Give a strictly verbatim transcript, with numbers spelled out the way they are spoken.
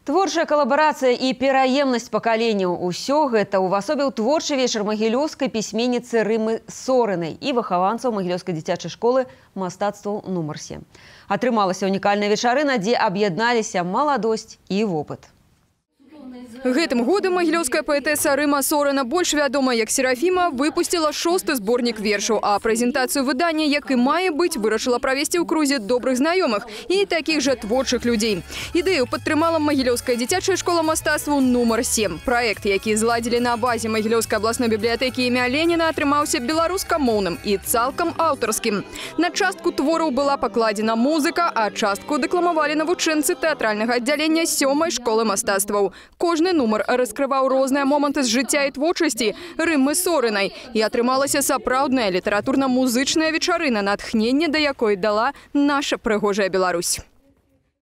Творчая коллаборация и пераемность поколенияў – усё гэта увасобіў творчы вечар магілёўскай пісьменніцы Рымы Сорынай і выхаванцаў магілёўскай дзіцячай школы мастацтваў нумар сем. Атрымалася унікальная вечарына, дзе аб'ядналіся маладосць і вопыт. Гэтым годам магілёўская паэтэса Рыма Сорына, больш вядомая як Серафіма, выпусціла шосты зборнік вершаў, а прэзентацыю выдання, як і мае быць, вырашыла правесці ў крузе добрых знаёмых і такіх жа творчых людзей. Ідэю падтрымала магілёўская дзіцячая школа мастацтваў нумар сем. Праект, які зладзілі на базе магілёўскай абласной бібліятэкі імя Леніна, атрымаўся беларускамоўным і цалкам аўтарскім. На частку твораў была пакладзена музыка, а частку дэкламавалі навучэнцы тэатральнага аддзялення сёмай школы мастацтваў. Кожны нумар раскрываў розныя моманты з жыцця і творчасці Рымы Сорынай. І атрымалася сапраўдная літаратурна-музычная вечарына, натхненне да якой дала наша прыгожая Беларусь.